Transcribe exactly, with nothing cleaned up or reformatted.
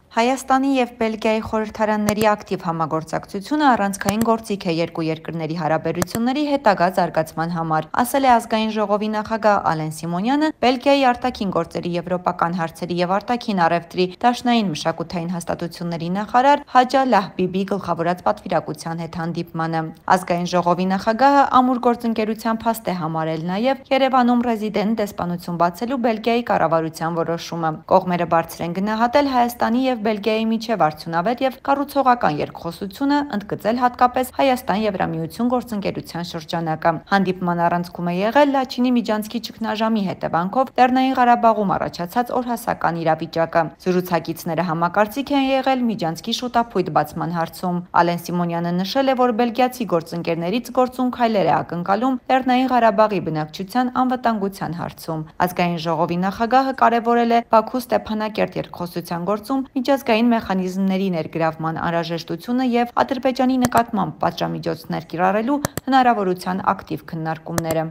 Հայաստանի և Բելգիայի խորհրդարանների ակտիվ համագործակցությունը առանցքային գործիք է երկու երկրների հարաբերությունների հետագա զարգացման համար, ասել է Ազգային ժողովի նախագահ Ալեն Սիմոնյանը Բելգիայի արտաքին գործերի եվրոպական հարցերի և արտաքին առևտրի դաշնային մշակութային հաստատությունների նախարար Հաջա Լահբիբի գլխավորած պատվիրակության հետ հանդիպմանը։ Ազգային ժողովի նախագահը ամուր գործընկերության փաստ է համարել նաև Երևանում ռեզիդենտ դեսպանություն բացելու Բելգիայի կառավարության որոշումը։ Կողմերը բարձր են գնահատել Հայաստանի և Բելգիայի միջև արդյունավետ և կառուցողական երկխոսությունը, ընդգծել հատկապես Հայաստան-Եվրամիություն գործընկերության շրջանակը։ Հանդիպման առանցքում է եղել Լաչինի միջանցքի ճգնաժամի հետևանքով Լեռնային Ղարաբաղում առաջացած օրհասական իրավիճակը։ Զրուցակիցները համակարծիք են եղել միջանցքի շուտափույթ բացման հարցում։ Ալեն Սիմոնյանը նշել է, որ բելգիացի գործընկերներից գործուն քայլեր է ակնկալում Լեռնային Ղարաբաղի բնակչության անվտանգության հարցում։ Ազգային ժողովի նախագահը կարևորել է Բաքու-Ստեփանակերտ երկխոսության գործում միջազգային մեխանիզմների ներգրավման անհրաժեշտությունը և Ադրբեջանի նկատմամբ պատժամիջոցներ կիրառելու հնարավորության ակտիվ քննարկումները։